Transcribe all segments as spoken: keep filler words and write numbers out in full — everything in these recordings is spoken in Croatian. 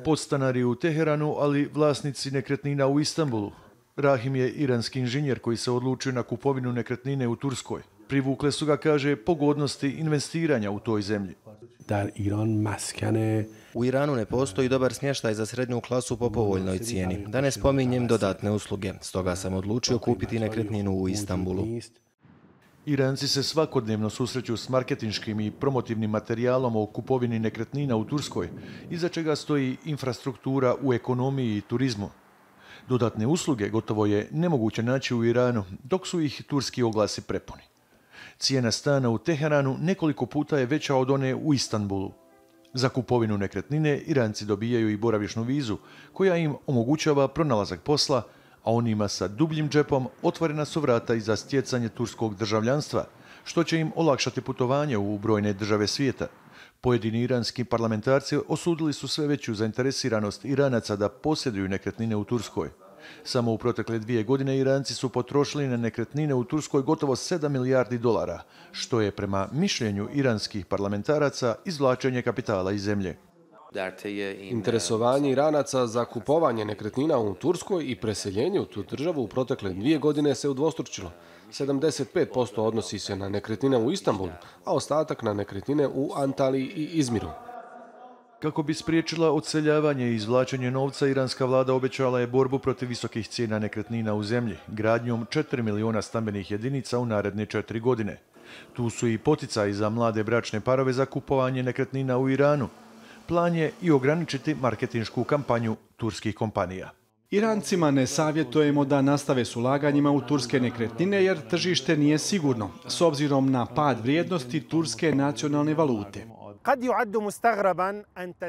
Podstanari u Teheranu, ali vlasnici nekretnina u Istanbulu. Rahim je iranski inženjer koji se odlučio na kupovinu nekretnine u Turskoj. Privukle su ga, kaže, pogodnosti investiranja u toj zemlji. U Iranu ne postoji dobar smještaj za srednju klasu po povoljnoj cijeni. Da ne spominjem dodatne usluge. Stoga sam odlučio kupiti nekretninu u Istanbulu. Iranci se svakodnevno susreću s marketinškim i promotivnim materijalom o kupovini nekretnina u Turskoj, iza čega stoji infrastruktura u ekonomiji i turizmu. Dodatne usluge gotovo je nemoguće naći u Iranu, dok su ih turski oglasi prepuni. Cijena stana u Teheranu nekoliko puta je veća od one u Istanbulu. Za kupovinu nekretnine Iranci dobijaju i boravišnu vizu, koja im omogućava pronalazak posla, a onima sa dubljim džepom otvorena su vrata i za stjecanje turskog državljanstva, što će im olakšati putovanje u brojne države svijeta. Pojedini iranski parlamentarci osudili su sve veću zainteresiranost Iranaca da posjeduju nekretnine u Turskoj. Samo u protekle dvije godine Iranci su potrošili na nekretnine u Turskoj gotovo sedam milijardi dolara, što je prema mišljenju iranskih parlamentaraca izvlačenje kapitala iz zemlje. Interesovanje Iranaca za kupovanje nekretnina u Turskoj i preseljenje u tu državu u protekle dvije godine se udvostručilo. sedamdeset pet posto odnosi se na nekretnine u Istanbulu, a ostatak na nekretnine u Antaliji i Izmiru. Kako bi spriječila odseljavanje i izvlačenje novca, iranska vlada obećala je borbu protiv visokih cijena nekretnina u zemlji, gradnjom četiri miliona stambenih jedinica u naredne četiri godine. Tu su i poticaji za mlade bračne parove za kupovanje nekretnina u Iranu. Plan je i ograničiti marketinšku kampanju turskih kompanija. Irancima ne savjetujemo da nastave s ulaganjima u turske nekretnine jer tržište nije sigurno, s obzirom na pad vrijednosti turske nacionalne valute.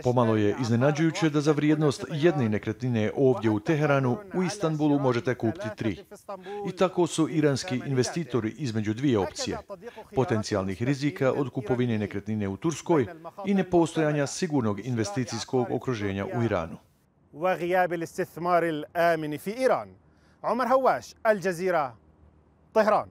Pomalo je iznenađujuće da za vrijednost jedne nekretnine ovdje u Teheranu, u Istanbulu možete kupiti tri. I tako su iranski investitori između dvije opcije: potencijalnih rizika od kupovine nekretnine u Turskoj i nepostojanja sigurnog investicijskog okruženja u Iranu. وغياب الاستثمار الآمن في إيران. عمر هواش، الجزيرة، طهران.